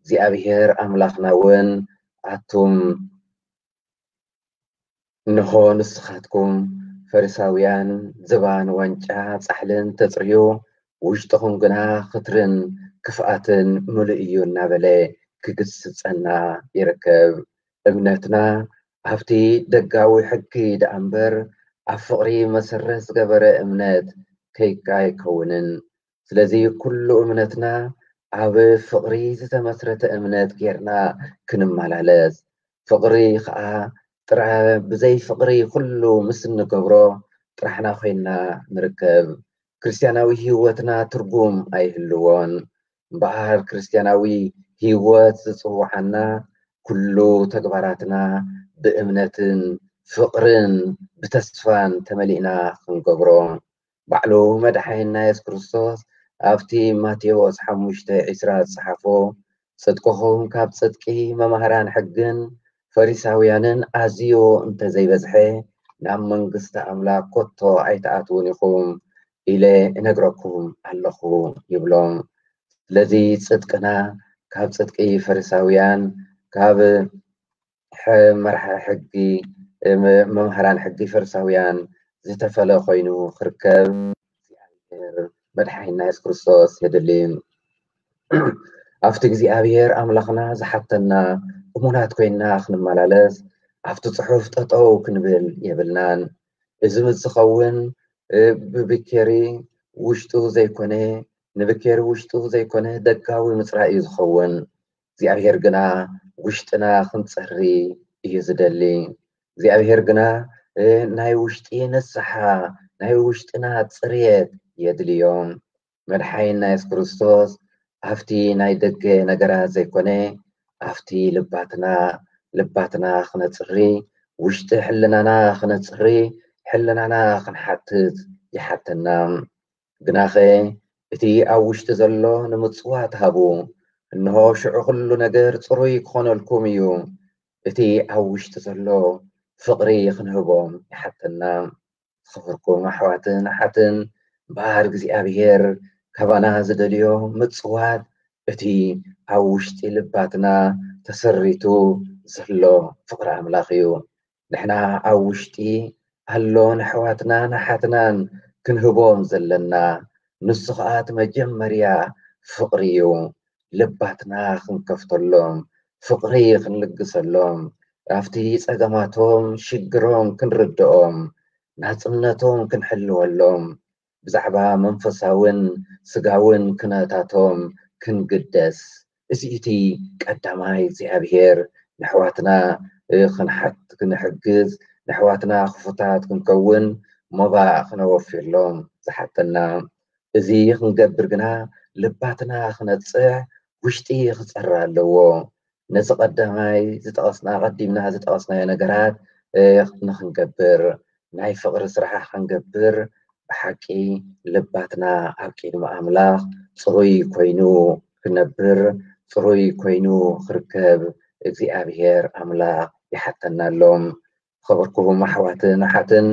እግዚኣብሔር ኣምላኽና እውን ኣቱም እንሆ ንስኻትኩም ፈሪሳውያን ዝባን ዋንጫ ጻሕልን ተጽርዩ ውሽጥኹም ግና ክትርን ክፍኣትን ምሉእ እዩ እናበለ ክግስጸና ይርከብ። እምነትና ኣብቲ ደጋዊ ሕጊ ደኣ እምበር ኣብ ፍቕሪ መሰረት ዝገበረ እምነት ከይካ ኣይከውንን። ስለዚ ኩሉ እምነትና ኣብ ፍቕሪ ዝተመስረተ እምነት ጌርና ክንመላለስ፣ ፍቕሪ ኸኣ ጥራ ብዘይ ፍቕሪ ኩሉ ምስ እንገብሮ ጥራሕና ኮይንና ንርከብ። ክርስትያናዊ ህይወትና ትርጉም ኣይህልዎን። እምበኣር ክርስትያናዊ ህይወት ዝጽውዓና ኩሉ ተግባራትና ብእምነትን ፍቕርን ብተስፋን ተመሊእና ክንገብሮ። ባዕሉ መድሓኒና የሱስ ክርስቶስ ኣብቲ ማቴዎስ ሓሙሽተ ዕስራ ዝጸሓፎ፣ ጽድቅኹም ካብ ጽድቂ መማህራን ሕግን ፈሪሳውያንን ኣዝዩ እንተዘይበዝሐ ናብ መንግስቲ ኣምላኽ ኮቶ ኣይትኣትዉን ኢኹም ኢለ እነግረኩም ኣለኹ ይብሎም። ስለዚ ጽድቅና ካብ ጽድቂ ፈሪሳውያን፣ ካብ መርሓ ሕጊ መምሃራን ሕጊ ፈሪሳውያን ዝተፈለ ኮይኑ ክርከብ እግዚኣብሔር መድሓኒና የሱስ ክርስቶስ የድሊ። ኣብቲ እግዚኣብሔር ኣምላኽና ዝሓተና እሙናት ኮይንና ክንመላለስ ኣብቲ ጽሑፍ ጠጠው ክንብል የብልናን። እዚ ምስ ዝኸውን ብብኬሪ ውሽጡ ዘይኮነ ንብኬሪ ውሽጡ ዘይኮነ ደጋዊ ምፅራይ እዩ ዝኸውን። እግዚኣብሔር ግና ውሽጥና ክንፀሪ እዩ ዝደሊ። እግዚኣብሔር ግና ናይ ውሽጢ ንስሓ ናይ ውሽጥና ፅርየት የድልዮም። መድሓኒና የሱስ ክርስቶስ ኣብቲ ናይ ደገ ነገራት ዘይኮነ ኣብቲ ልባትና ልባትና ክነፅሪ ውሽጢ ሕልናና ክነፅሪ ሕልናና ክንሓትት ይሓተና። ግናኸ እቲ ኣብ ውሽጢ ዘሎ ንምጽዋት ሃቡ፣ እንሆ ሽዑ ኩሉ ነገር ጽሩይ ክኾነልኩም እዩ። እቲ ኣብ ውሽጢ ዘሎ ፍቕሪ ክንህቦም ይሓተና። ዝኸበርኩም ኣሕዋትን ኣሓትን እምበኣር እግዚኣብሔር ካባና ዝደልዮ ምጽዋት እቲ ኣብ ውሽጢ ልባትና ተሰሪቱ ዘሎ ፍቕሪ ኣምላኽ እዩ። ንሕና ኣብ ውሽጢ ኣሎ ንኣሕዋትናን ኣሓትናን ክንህቦም ዘለና ንሱ ኸኣ እቲ መጀመርያ ፍቕሪ እዩ። ልባትና ክንከፍተሎም ፍቕሪ ክንልግሰሎም ናብቲ ጸገማቶም ሽግሮም ክንርድኦም፣ ናጽነቶም ክንሕልወሎም፣ ብዛዕባ መንፈሳውን ስጋውን ክነታቶም ክንግደስ። እዚ እቲ ቀዳማይ እግዚኣብሔር ንሕዋትና ክንሓት ክንሕግዝ፣ ንሕዋትና ክፉታት ክንከውን ሞባእ ክነወፍየሎም ዝሓተና። እዚ ክንገብር ግና ልባትና ክነጽሕ፣ ውሽጢ ክጸሪ ኣለዎ። ነዚ ቀዳማይ ዝጠቐስና ቀዲምና ዝጠቐስናዮ ነገራት ንክንገብር፣ ናይ ፍቕሪ ስራሕ ክንገብር፣ ብሓቂ ልባትና ኣብ ቅድሚ ኣምላኽ ጽሩይ ኮይኑ ክነብር፣ ጽሩይ ኮይኑ ክርከብ እግዚኣብሔር ኣምላኽ ይሓተና ኣሎ። ዝኸበርኩም ኣሕዋትን ኣሓትን፣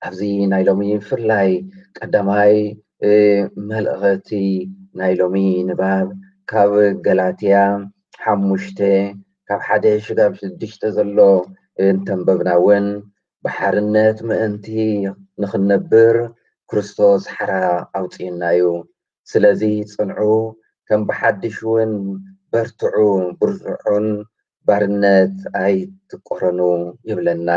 ኣብዚ ናይ ሎሚ ብፍላይ ቀዳማይ መልእኸቲ ናይ ሎሚ ንባብ ካብ ገላትያ ሓሙሽተ ካብ ሓደ ሽጋብ ሽዱሽተ ዘሎ እንተንበብና እውን፣ ብሓርነት ምእንቲ ንኽንነብር ክርስቶስ ሓራ ኣውፅእና እዩ። ስለዚ ጽንዑ፣ ከም ብሓድሽ እውን በርትዑ፣ ብርትዑን ባርነት ኣይትቆረኑ ይብለና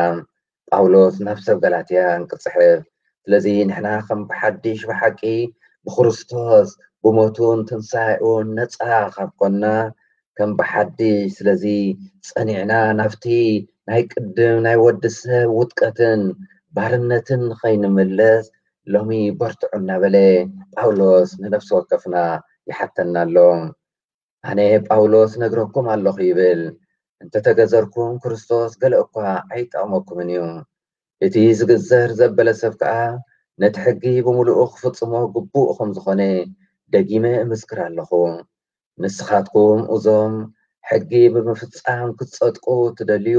ጳውሎስ ናብ ሰብ ገላትያ እንክጽሕፍ። ስለዚ ንሕና ከም ብሓድሽ ብሓቂ ብክርስቶስ ብሞቱን ትንሳኤኡን ነጻ ካብ ኮና፣ ከም ብሓድሽ ስለዚ ጸኒዕና ናብቲ ናይ ቅድም ናይ ወዲ ሰብ ውድቀትን ባርነትን ኸይንምለስ ሎሚ በርትዑ እናበለ ጳውሎስ ንነፍሲ ወከፍና ይሓተና ኣሎ። ኣነ ጳውሎስ ነግረኩም ኣለኹ ይብል፣ እንተተገዘርኩም ክርስቶስ ገለ እኳ ኣይጠቕመኩምን እዩ። እቲ ዝግዘር ዘበለ ሰብ ከኣ ነቲ ሕጊ ብምሉኡ ክፍጽሞ ግቡእ ከም ዝኾነ ደጊመ እምስክር ኣለኹ። ንስኻትኩም እዞም ሕጊ ብምፍጻም ክትጸድቁ ትደልዩ፣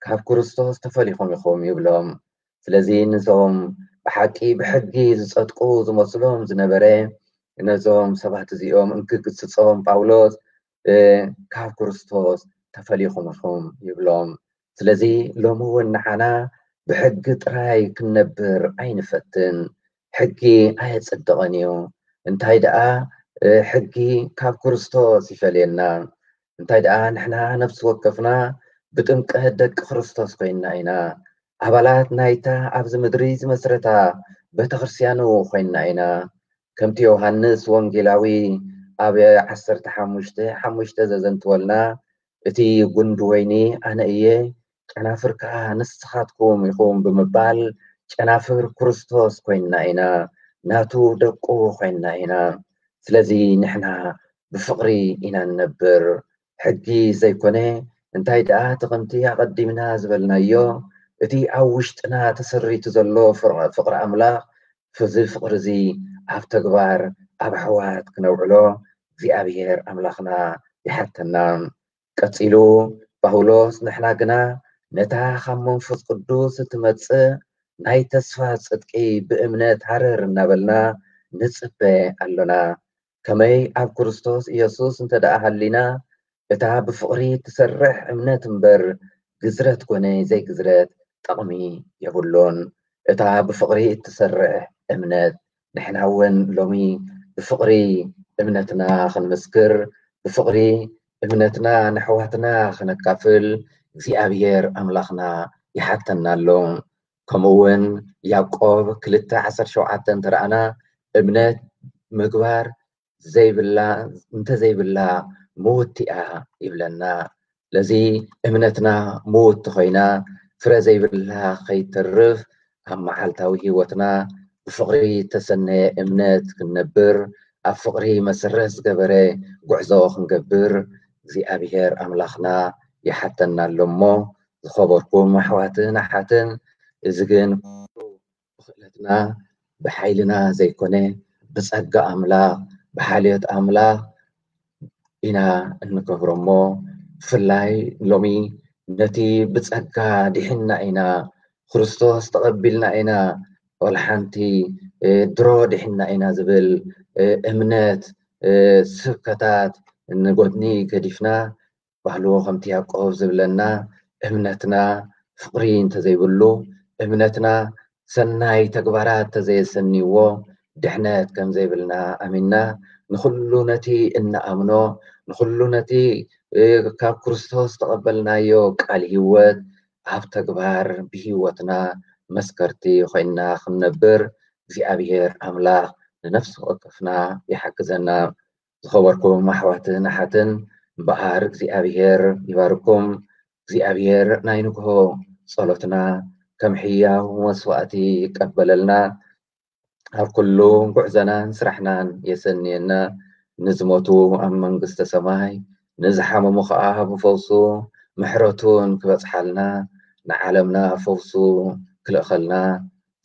ካብ ክርስቶስ ተፈሊኹም ኢኹም ይብሎም። ስለዚ ነዞም ብሓቂ ብሕጊ ዝጸድቁ ዝመስሎም ዝነበረ ነዞም ሰባት እዚኦም እንክግስጾም ጳውሎስ ካብ ክርስቶስ ተፈሊኹም ኢኹም ይብሎም። ስለዚ ሎሚ እውን ንዓና ብሕጊ ጥራይ ክንነብር ኣይንፈትን። ሕጊ ኣየጽድቕን እዩ። እንታይ ደኣ ሕጊ ካብ ክርስቶስ ይፈልየና። እንታይ ደኣ ንሕና ነፍሲ ወከፍና ብጥምቀት ደቂ ክርስቶስ ኮይንና ኢና። ኣባላት ናይታ ኣብዚ ምድሪ ዝመስረታ ቤተክርስትያኑ ኮይንና ኢና። ከምቲ ዮሃንስ ወንጌላዊ ኣብ ዓሰርተ ሓሙሽተ ሓሙሽተ ዘዘንትወልና፣ እቲ ጉንዲ ወይኒ ኣነ እየ፣ ጨናፍር ከኣ ንስኻትኩም ኢኹም ብምባል ጨናፍር ክርስቶስ ኮይንና ኢና፣ ናቱ ደቁ ኮይንና ኢና። ስለዚ ንሕና ብፍቕሪ ኢና ንነብር። ሕጊ ዘይኮነ፣ እንታይ ደኣ እቲ ከምቲ ኣቐዲምና ዝበልናዮ፣ እቲ ኣብ ውሽጥና ተሰሪቱ ዘሎ ፍቕሪ ኣምላኽ፣ እዚ ፍቕሪ እዚ ኣብ ተግባር ኣብ ኣሕዋት ክነውዕሎ እግዚኣብሔር ኣምላኽና ይሓተና። ቀጺሉ ጳውሎስ፣ ንሕና ግና ነታ ካብ መንፈስ ቅዱስ እትመጽእ ናይ ተስፋ ጽድቂ ብእምነት ሃረር እናበልና ንጽበ ኣሎና። ከመይ ኣብ ክርስቶስ ኢየሱስ እንተ ደኣ ሃሊና፣ እታ ብፍቕሪ እትሰርሕ እምነት እምበር፣ ግዝረት ኮነ ዘይግዝረት ጠቕሚ የብሉን። እታ ብፍቕሪ እትሰርሕ እምነት፣ ንሕና እውን ሎሚ ብፍቕሪ እምነትና ክንምስክር፣ ብፍቕሪ እምነትና ንኣሕዋትና ክነካፍል እግዚኣብሔር ኣምላኽና ይሓተና ኣሎ። ከምኡ እውን ያዕቆብ ክልተ ዓሰርተ ሸውዓተ እንተ ረኣና፣ እምነት ምግባር ዘይብላ፣ እንተዘይብላ ምውቲ እያ ይብለና። ስለዚ እምነትና ምውቲ ኮይና ፍረ ዘይብላ ከይተርፍ፣ ኣብ መዓልታዊ ህይወትና ብፍቕሪ እተሰነየ እምነት ክንነብር፣ ኣብ ፍቕሪ መሰረት ዝገበረ ጉዕዞ ክንገብር እግዚኣብሔር ኣምላኽና ይሓተና ኣሎ እሞ፣ ዝኸበርኩም ኣሕዋትን ኣሓትን፣ እዚ ግን ብኽእለትና ብሓይልና ዘይኮነ፣ ብጸጋ ኣምላኽ፣ ብሓልዮት ኣምላኽ ኢና እንገብሮ እሞ፣ ብፍላይ ሎሚ ነቲ ብጸጋ ድሒንና ኢና፣ ክርስቶስ ተቐቢልና ኢና፣ ዋላ ሓንቲ፣ እ፣ ድሮ ድሒንና ኢና ዝብል፣ እ፣ እምነት፣ እ፣ ስብከታት ንጎድኒ ገዲፍና፣ ባህሉ ከምቲ ያዕቆብ ዝብለና፣ እምነትና ፍቕሪ እንተዘይብሉ፣ እምነትና ሰናይ ተግባራት እንተዘየሰንይዎ፣ ድሕነት ከም ዘይብልና ኣሚንና፣ ንኹሉ ነቲ እንኣምኖ፣ ንኹሉ ነቲ፣ እ፣ ካብ ክርስቶስ ተቐበልናዮ ቃል ህይወት፣ ኣብ ተግባር ብህይወትና መስከርቲ ኮይንና ክንነብር እግዚኣብሔር ኣምላኽ ንነፍሲ ወከፍና ይሓግዘና። ዝኸበርኩም ኣሕዋትን ኣሓትን እምበኣር እግዚኣብሔር ይባርኩም። እግዚኣብሔር ናይ ንግሆ ጸሎትና ከም ሕያው መስዋእቲ ይቀበለልና። ኣብ ኩሉ ጉዕዞናን ስራሕናን የሰንየና። ንዝሞቱ ኣብ መንግስተ ሰማይ፣ ንዝሓመሙ ኸዓ ብፈውሱ ምሕረቱን ክበጽሓልና፣ ንዓለምና ፈውሱ ክልእኸልና፣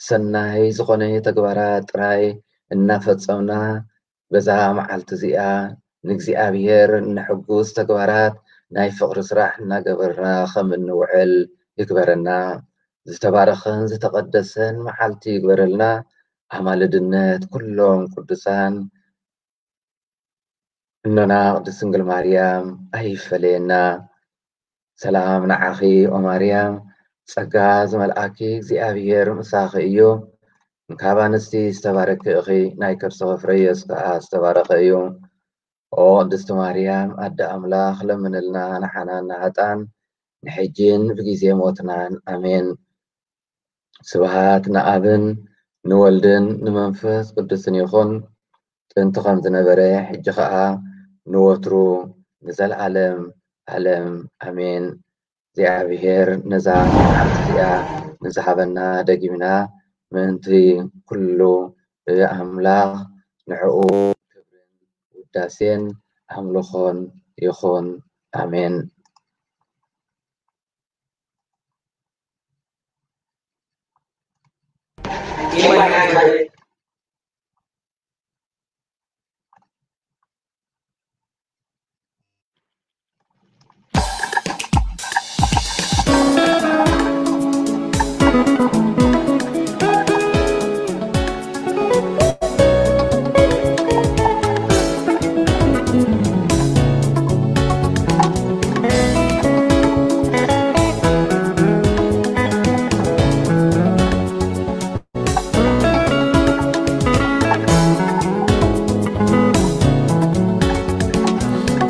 ሰናይ ዝኾነ ተግባራት ጥራይ እናፈጸምና በዛ መዓልቲ እዚኣ ንእግዚኣብሔር እነሐጉስ ተግባራት ናይ ፍቕሪ ስራሕ እናገበርና ከም እንውዕል ይግበረና። ዝተባረኸን ዝተቐደሰን መዓልቲ ይግበረልና። ኣማልድነት ኩሎም ቅዱሳን እኖና ቅድስት ድንግል ማርያም ኣይፈለየና። ሰላም ንዓኺ ኦ ማርያም፣ ጸጋ ዝመልኣኪ እግዚኣብሔር ምሳኺ እዩ። እንካብ ኣንስቲ ዝተባረኪ ኢኺ፣ ናይ ከርስኺ ፍረ ኢየሱስ ከኣ ዝተባረኸ እዩ። ኦ ቅድስቲ ማርያም ኣደ ኣምላኽ፣ ለምንልና ንሓና ንሃጣን፣ ንሕጂን ብጊዜ ሞትናን። ኣሜን። ስብሃት ንኣብን ንወልድን ንመንፈስ ቅዱስን ይኹን፣ ጥንቲ ከም ዝነበረ፣ ሕጂ ኸኣ ንወትሩ ንዘለዓለም ዓለም። ኣሜን። እግዚኣብሔር ነዛ መዓልቲ እዚኣ ንዝሃበና ደጊምና ምእንቲ ኩሉ ኣምላኽ ንዕኡ ክብርን ውዳሴን ኣምልኾን ይኹን። ኣሜን።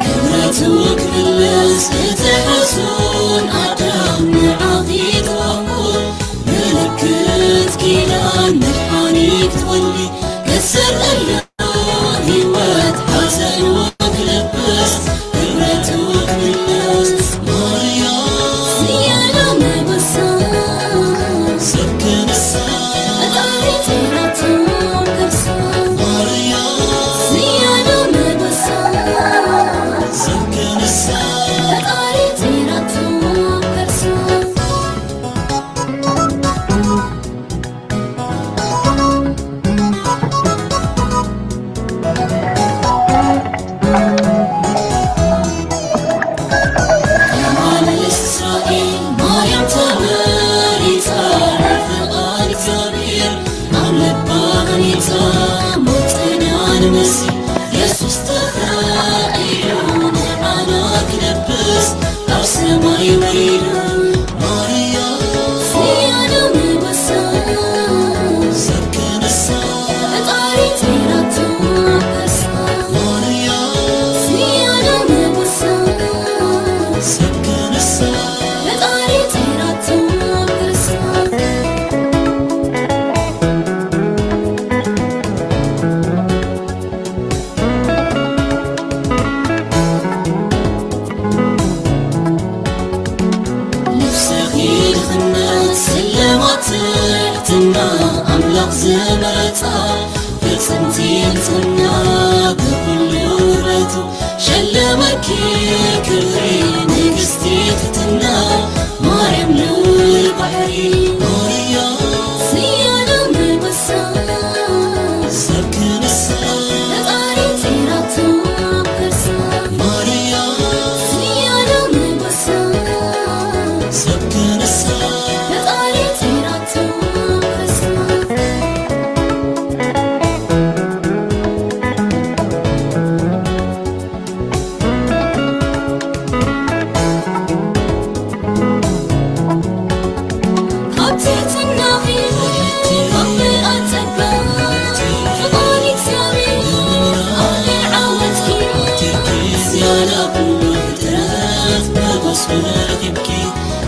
ክብረቱ ክምለስ እቲ ሕሱን ኣዳም ንዓኺ ተዋህቦ፣ ምልክት ኪዳን መድሓኒ ክትወልዲ፣ ከሰርዕሎ ህይወት ሓዘን ክለብስ፣ ክብረቱ ክምለስ ማርያም ዝያዳ መበሳ፣ ሰብ ክነሳ ፈጣሪ ጸይራቶ ከርሳ። ማርያም ዝያዳ መበሳ፣ ሰብ ክነሳ ፈጣሪ ጸይራቶ ከርሳ። ነፍስኺ ድኽነት ስልማት ትሕትና ኣምላኽ ዝመረጻ፣ ፍጽምቲ ንጽህና ብኹሉ ውበቱ ሸለመኪ ክብሪ ንግስቲ ትሕትና ማርያም ልዑል ባሕሪ። ማርያም ዝያዳ መበሳ ሰብ ክነሳ ፈጣሪ ጸይራቶ ከርሳ። ማርያም ዝያዳ መበሳ ሰብ ክነሳ ፈጣሪ ጸይራቶ ከርሳ።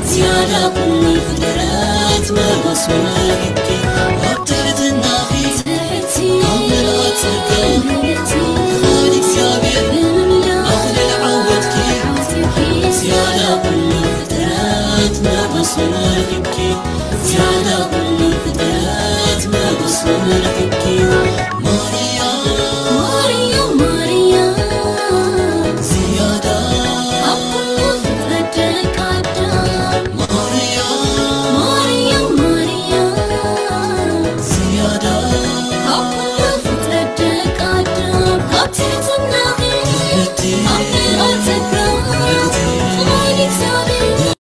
ዝያዳ ኩሉ መሶበ ርኢኪ ኣብ ትሕትናኺ ኣብ ምልኣት ጸጋ ፍቓድ እግዚኣብሔር ኣኽሊል ዓወትኪ ዝያዳ ኩሉ ፍጥረት መሶበ ርኢኪ ዝያዳ ኩሉ ፍጥረት መሶበ ርኢኪ